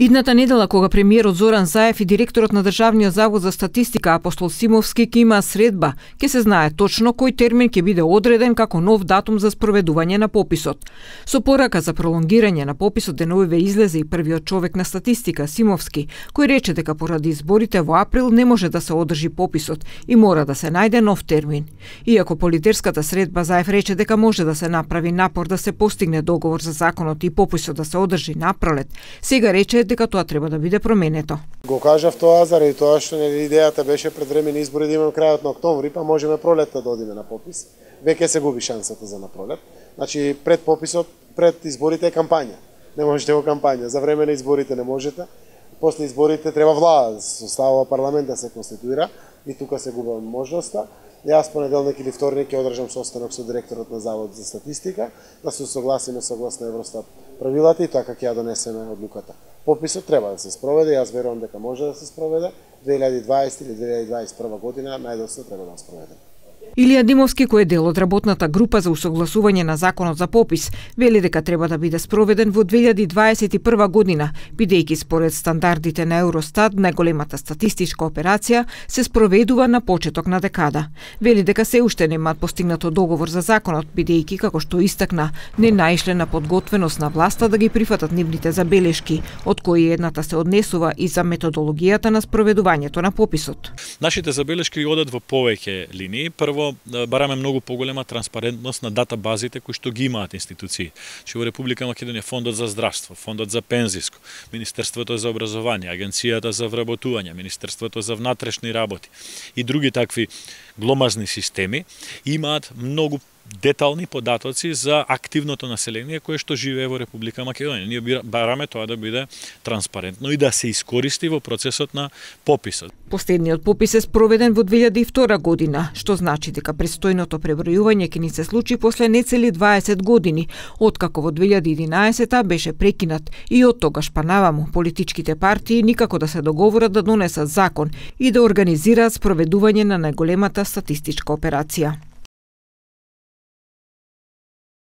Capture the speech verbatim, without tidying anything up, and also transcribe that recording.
Идната недела, кога премиерот Зоран Заев и директорот на Државниот завод за статистика Апостол Симовски ќе имаат средба, ќе се знае точно кој термин ќе биде одреден како нов датум за спроведување на пописот. Со порака за пролонгирање на пописот деновиве излезе и првиот човек на статистика Симовски, кој рече дека поради изборите во април не може да се одржи пописот и мора да се најде нов термин. Иако по лидерската средба Заев рече дека може да се направи напор да се постигне договор за законот и пописот да се одржи на пролет, сега рече дека тоа треба да биде променето. Го кажав тоа заради тоа што нели идејата беше пред времени избори да имаме крајот на октомври, па можеме пролетта да одиме на попис. Веќе се губи шансата за на пролет. Значи пред пописот, пред изборите е кампања. Не можете во кампања, за време на изборите не можете. После изборите треба влада, составува парламент да се конституира и тука се губи можноста. Јас понеделник или вторник ќе одржам состанок со директорот на Завод за статистика да се согласиме согласно Евростат правилата и така ќе ја донесеме одлуката. Пописот треба да се спроведе, јас верувам дека може да се спроведе две илјади и дваесета или две илјади и дваесет и прва година, најдоста треба да спроведе. Илија Димовски, кој е дел од работната група за усогласување на законот за попис, вели дека треба да биде спроведен во две илјади и дваесет и прва година, бидејќи според стандардите на Евростат најголемата статистичка операција се спроведува на почеток на декада. Вели дека се уште немаат постигнато договор за законот, бидејќи, како што истакна, не наишле на подготвеност на власта да ги прифатат нивните забелешки, од кои едната се однесува и за методологијата на спроведувањето на пописот. Нашите забелешки одат во повеќе линии. Прво, бараме многу поголема транспарентност на датабазите кои што ги имаат институции. Че во Република Македонија Фондот за здравство, Фондот за пензиско, Министерството за образование, Агенцијата за вработување, Министерството за внатрешни работи и други такви гломазни системи имаат многу детални податоци за активното население кое што живее во Република Македонија. Ние бараме тоа да биде транспарентно и да се искористи во процесот на пописот. Последниот попис е спроведен во две илјади и втора година, што значи дека престојното пребројување ќе ни се случи после нецели дваесет години, откако во две илјади и единаесета беше прекинат и од тогаш па наваму политичките партии никако да се договорат да донесат закон и да организираат спроведување на најголемата статистичка операција.